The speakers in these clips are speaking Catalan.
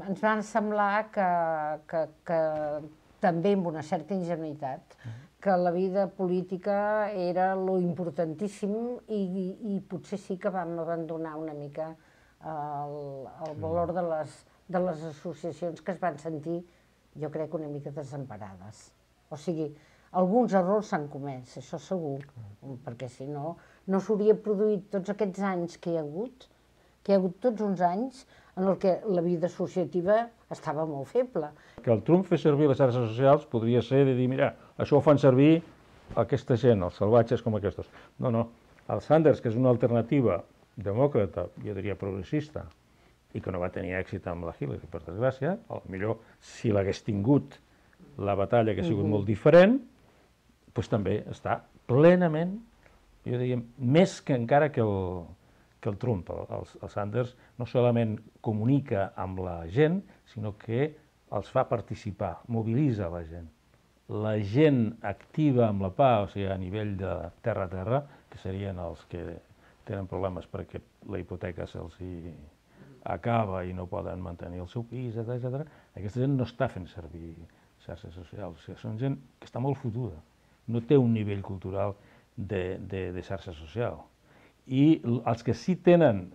ens va semblar que també amb una certa ingenuïtat, que la vida política era lo importantíssim i potser sí que vam abandonar una mica el valor de les associacions que es van sentir, jo crec, una mica desemparades. O sigui, alguns errors s'han comès, això segur, perquè si no, no s'hauria produït tots aquests anys que hi ha hagut tots uns anys en què la vida associativa estava molt feble. Que el Trump fes servir les xarxes socials podria ser de dir, mira, això ho fan servir aquesta gent, els salvatges com aquests. No, no, el Sanders, que és una alternativa demòcrata, jo diria progressista, i que no va tenir èxit amb la Hillary, per desgràcia, potser si l'hagués tingut la batalla que ha sigut molt diferent, doncs també està plenament, jo diria, més que encara que el Trump. El Sanders no solament comunica amb la gent, sinó que els fa participar, mobilitza la gent. La gent activa amb la PA, o sigui, a nivell de terra a terra, que serien els que tenen problemes perquè la hipoteca se'ls acaba i no poden mantenir el seu pis, etc. Aquesta gent no està fent servir xarxes socials, o sigui, són gent que està molt fotuda, no té un nivell cultural de xarxa social. I els que sí tenen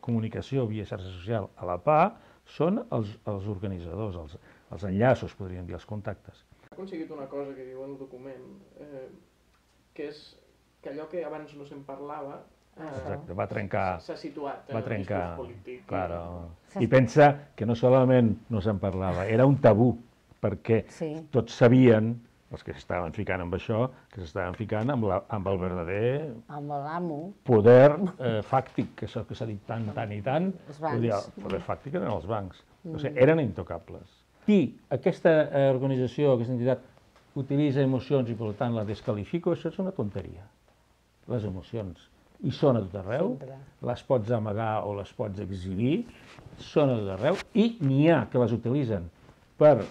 comunicació via xarxa social a la PA són els organitzadors, els enllaços, podríem dir, els contactes. Ha aconseguit una cosa que diu el document, que és que allò que abans no se'n parlava s'ha situat en el discurs polític. I pensa que no solament no se'n parlava, era un tabú, perquè tots sabien, els que s'estaven ficant amb això, que s'estaven ficant amb el verdader poder fàctic, que això que s'ha dit tant i tant, el poder fàctic eren els bancs, o sigui, eren intocables. Si aquesta organització, aquesta entitat, utilitza emocions i per tant la descalifico, això és una tonteria. Les emocions hi són a tot arreu, les pots amagar o les pots exhibir, són a tot arreu, i n'hi ha que les utilitzen per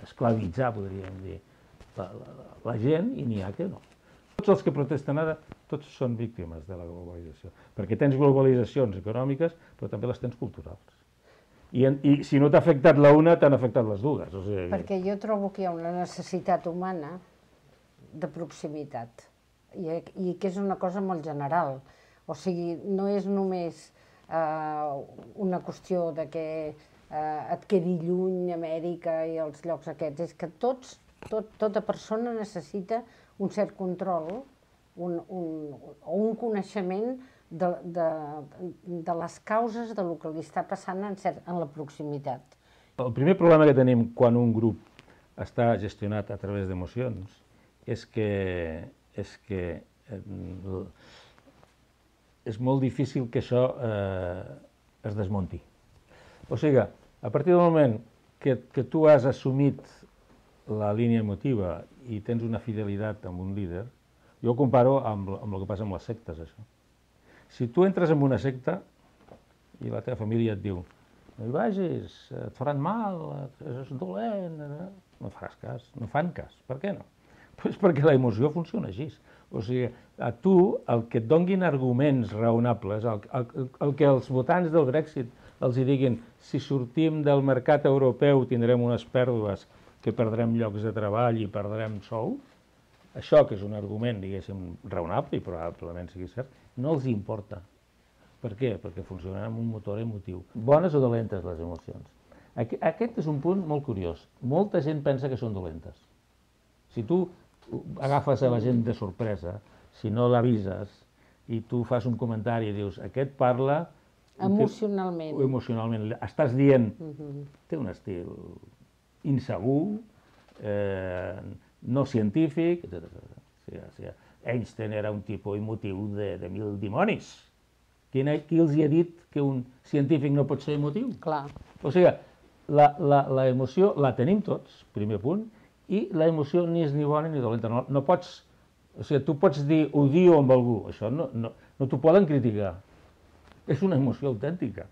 esclavitzar, podríem dir, la gent, i n'hi ha que no. Tots els que protesten ara, tots són víctimes de la globalització, perquè tens globalitzacions econòmiques, però també les tens culturals. I si no t'ha afectat l'una, t'han afectat les dues. Perquè jo trobo que hi ha una necessitat humana de proximitat, i que és una cosa molt general. O sigui, no és només una qüestió de que et quedi lluny Amèrica i els llocs aquests, és que tota persona necessita un cert control o un coneixement de les causes del que li està passant en la proximitat. El primer problema que tenim quan un grup està gestionat a través d'emocions és que és molt difícil que això es desmunti. O sigui, a partir del moment que tu has assumit la línia emotiva i tens una fidelitat amb un líder, jo ho comparo amb el que passa amb les sectes, això. Si tu entres en una secta i la teva família et diu no hi vagis, et faran mal, és dolent, no faràs cas, no fan cas. Per què no? Doncs perquè la emoció funciona així. O sigui, a tu el que et donguin arguments raonables, el que els votants del Brexit els diguin si sortim del mercat europeu tindrem unes pèrdues, que perdrem llocs de treball i perdrem sou, això que és un argument, diguéssim, raonable i probablement sigui cert, no els importa. Per què? Perquè funcionen amb un motor emotiu. Bones o dolentes les emocions? Aquest és un punt molt curiós. Molta gent pensa que són dolentes. Si tu agafes a la gent de sorpresa, si no l'avises i tu fas un comentari i dius aquest parla... Emocionalment. Estàs dient, té un estil insegur, no científic, etc. Einstein era un tipus emotiu de mil dimonis. Qui els ha dit que un científic no pot ser emotiu? Clar. O sigui, la emoció la tenim tots, primer punt, i la emoció ni és ni bona ni dolenta. No pots, o sigui, tu pots dir odio amb algú, això no t'ho poden criticar. És una emoció autèntica.